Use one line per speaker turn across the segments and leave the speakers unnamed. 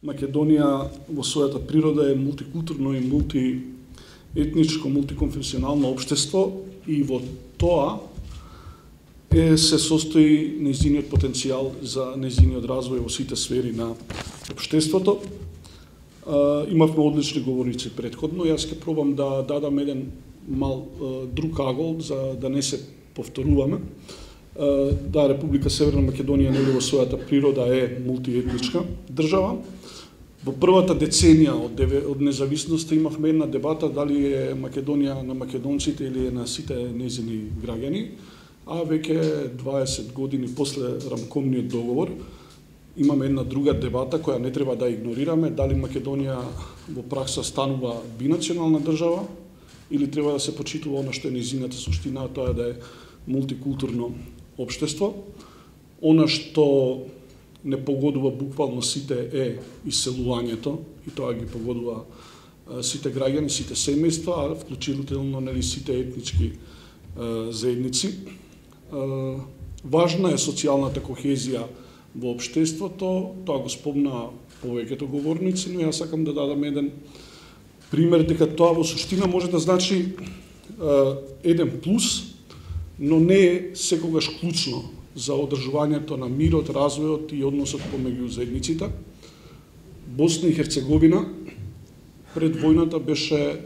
Македонија во својата природа е мултикултурно и мултиетничко, мултиконфесионално општество и во тоа се состои нејзиниот потенцијал за нејзиниот развој во сите сфери на општеството. Имавме одлични говорници претходно, јас ќе пробам да дадам еден мал друг агол за да не се повторуваме. Да, Република Северна Македонија нели во својата природа е мултиетничка држава. Во првата деценија од независноста имавме една дебата дали е Македонија на македонците или е на сите нејзини граѓани, а веќе 20 години после рамкомниот договор имаме една друга дебата која не треба да игнорираме, дали Македонија во пракса станува бинационална држава или треба да се почитува она што е нејзината суштина, а тоа е да е мултикултурно општество. Она што не погодува буквално сите е иселувањето и тоа ги погодува сите граѓани, сите семејства, а вклучително нели сите етнички заедници. Важна е социјалната кохезија во општеството, тоа го спомна повеќето говорници, но јас сакам да дадам еден пример дека тоа во суштина може да значи еден плюс, но не е секогаш клучно за одржувањето на мирот, развојот и односот помеѓу заедниците. Босна и Херцеговина пред војната беше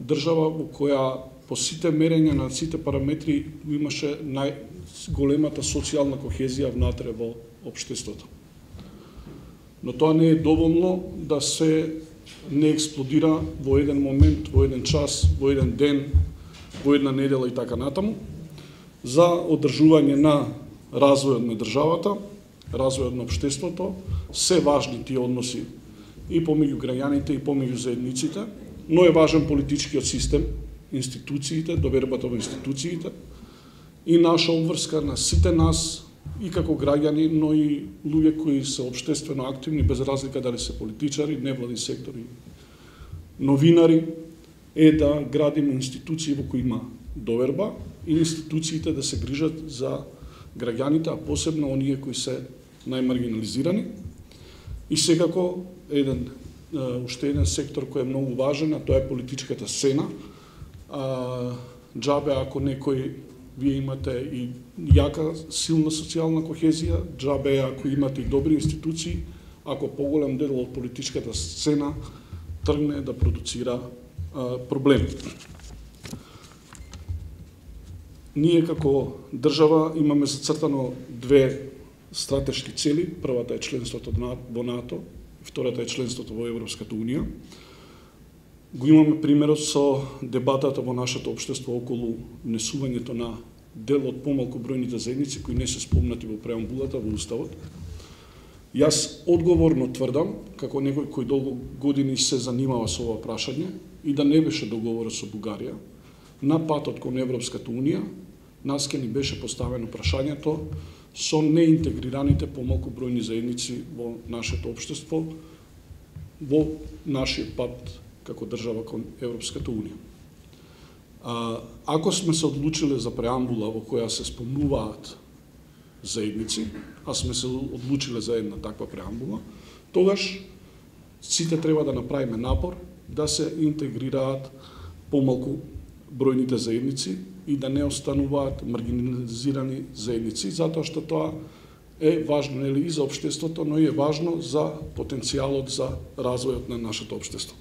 држава во која по сите мерења на сите параметри имаше најголемата социјална кохезија внатре во општеството. Но тоа не е доволно да се не експлодира во еден момент, во еден час, во еден ден, во една недела и така натаму. За одржување на развојот на државата, развојот на општеството, се важни тие односи и помеѓу граѓаните и помеѓу заедниците, но е важен политичкиот систем, институциите, довербата во институциите и наша обврска на сите нас и како граѓани, но и луѓе кои се општествено активни, без разлика дали се политичари, невладин сектори, новинари, е да градиме институции во кои има доверба и институциите да се грижат за граѓаните, а посебно оние кои се најмаргинализирани. И секако уште еден сектор кој е многу важен, а тоа е политичката сцена. Џабе ако некој вие имате и јака, силна социјална кохезија, џабе ако имате и добри институции, ако поголем дел од политичката сцена тргне да продуцира проблеми. Ние како држава имаме зацртано две стратешки цели. Првата е членството во НАТО, втората е членството во Европската Унија. Го имаме примерот со дебатата во нашето општество околу внесувањето на дел од помалку бројните заедници кои не се спомнати во преамбулата во Уставот. Јас одговорно тврдам, како некој кој долго години се занимава со ова прашање и да не беше договорот со Бугарија, на патот кон Европската Унија, нас ке ни беше поставено прашањето со неинтегрираните помалку бројни заедници во нашето општество, во нашиот пат како држава кон Европската Унија. Ако сме се одлучиле за преамбула во која се спомнуваат заедници, а сме се одлучиле за една таква преамбула, тогаш сите треба да направиме напор да се интегрираат помалку бројните заедници и да не остануваат маргинализирани заедници, затоа што тоа е важно нели и за општеството, но и е важно за потенцијалот за развојот на нашето општество.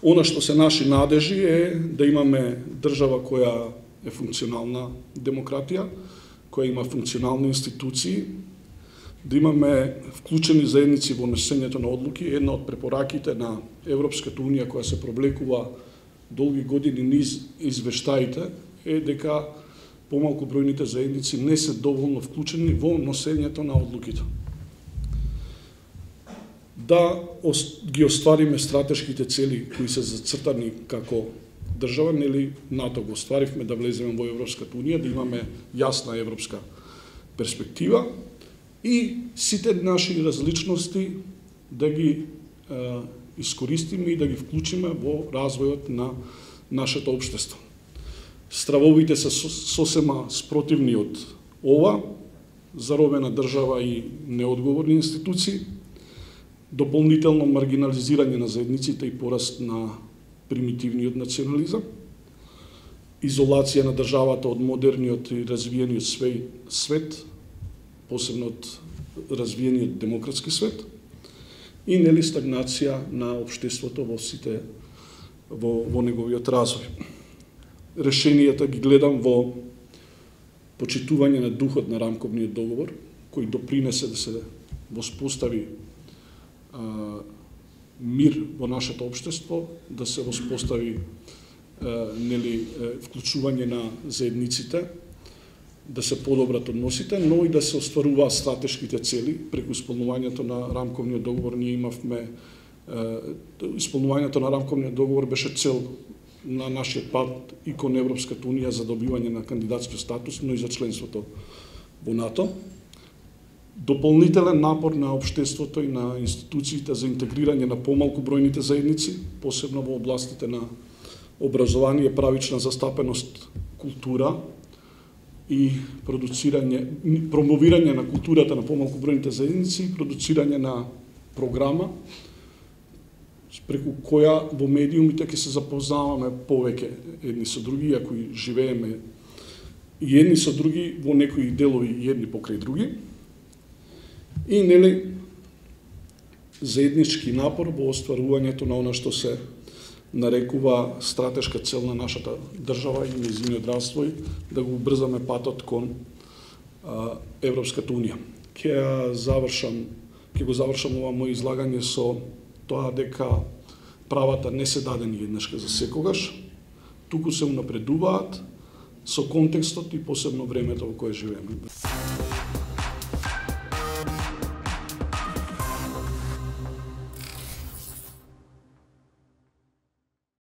Она што се наши надежи е да имаме држава која е функционална демократија, која има функционални институции, да имаме вклучени заедници во носењето на одлуки. Една од препораките на Европската Унија која се проблекува долги години низ извештаите е дека помалку бројните заедници не се доволно вклучени во носењето на одлуките. Да ги оствариме стратешките цели кои се зацртани како држава, нели НАТО го остваривме да влеземе во Европската Унија, да имаме јасна европска перспектива и сите наши различности да ги искористиме и да ги вклучиме во развојот на нашето општество. Стравовите се сосема спротивни од ова, заробена држава и неодговорни институции, дополнително маргинализирање на заедниците и пораст на примитивниот национализам, изолација на државата од модерниот и развиениот свет, посебно од развиениот демократски свет, и нели стагнација на општеството во неговиот развој. Решенијата ги гледам во почитување на духот на рамковниот договор, кој допринесе да се воспостави мир во нашето општество, да се воспостави вклучување на заедниците, да се подобрат односите, но и да се остваруваат стратешките цели преку исполнувањето на рамковниот договор. Ние имавме исполнувањето на рамковниот договор беше цел на нашиот пат и кон Европската унија за добивање на кандидатски статус, но и за членството во НАТО. Дополнителен напор на општеството и на институциите за интегрирање на помалку бројните заедници, посебно во областите на образование, правична застапеност, култура и промовирање на културата на помалку бројните заедници, продуцирање на програма преку која во медиумите ќе се запознаваме повеќе едни со други, ако и живееме и едни со други во некои делови едни покрај други. И заеднички напор во остварувањето на она што се нарекува стратешка цел на нашата држава и нејзиниот развој, да го убрзаме патот кон Европската унија. Ќе го завршам ова моје излагање со тоа дека правата не се дадени еднашка за секогаш, туку се унапредуваат со контекстот и посебно времето во кое живееме.